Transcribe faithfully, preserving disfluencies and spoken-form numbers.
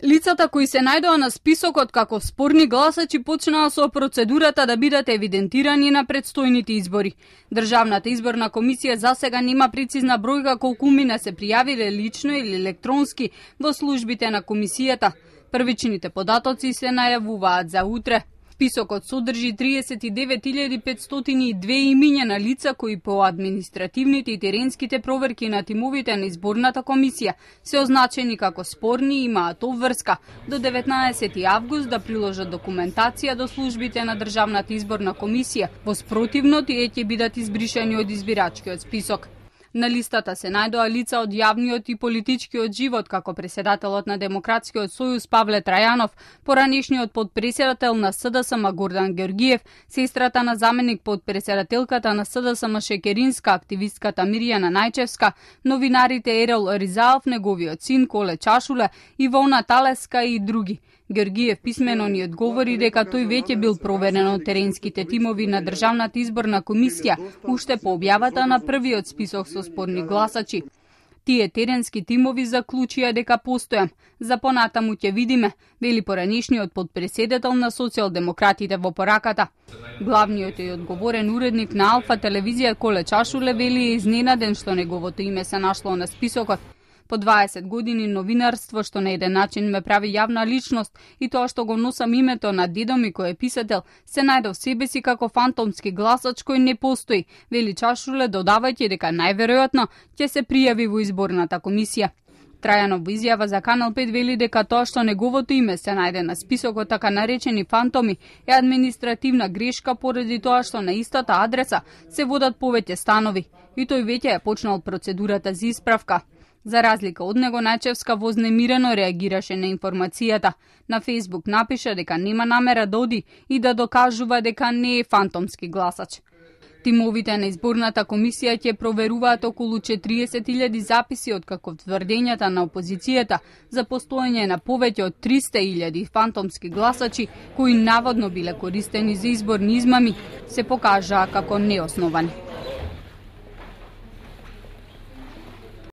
Лицата кои се најдоа на списокот како спорни гласачи почнаа со процедурата да бидат евидентирани на предстојните избори. Државната изборна комисија засега нема прецизна бројка колку мина се пријавиле лично или електронски во службите на комисијата. Првичните податоци се најавуваат за утре. Списокот содржи триесет и девет илјади петстотини и две имиња на лица кои по административните и теренските проверки на тимовите на изборната комисија се означени како спорни и имаат обврска до деветнаесети август да приложат документација до службите на Државната изборна комисија. Во спротивно, тие ќе бидат избришани од избирачкиот список. На листата се најдоа лица од јавниот и политичкиот живот, како преседателот на Демократскиот сојуз Павле Трајанов, поранешниот подпредседател на СДСМ Гордан Георгиев, сестрата на заменик подпредседателката на СДСМ Шекеринска, активистката Мирјана Најчевска, новинарите Ерол Ризаов, неговиот син Коле Чашуле, Ивона Талеска и други. Георгиев писмено ни одговори дека тој веќе бил проверен од теренските тимови на Државната изборна комисија уште по објавата на првиот список со спорни гласачи. Тие теренски тимови заклучија дека постојам. За понатаму ќе видиме, вели поранешниот подпредседател на социјалдемократите во пораката. Главниот и одговорен уредник на Алфа телевизија Коле Чашуле вели е изненаден што неговото име се нашло на списокот. По дваесет години новинарство што на еден начин ме прави јавна личност и тоа што го носам името на дедо ми кој е писател, се најдов себе си како фантомски гласач кој не постои, вели Чашуле, додавајќи дека најверојатно ќе се пријави во изборната комисија. Трајанов во изјава за Канал пет вели дека тоа што неговото име се најде на списокот така наречени фантоми е административна грешка поради тоа што на истата адреса се водат повеќе станови и тој веќе е почнал процедурата за исправка. За разлика од него, Најчевска вознемирено реагираше на информацијата. На Фејсбук напиша дека нема намера да оди и да докажува дека не е фантомски гласач. Тимовите на изборната комисија ќе проверуваат околу четириесет илјади записи од како тврдењата на опозицијата за постоење на повеќе од триста илјади фантомски гласачи кои наводно биле користени за изборни измами се покажаа како неосновани.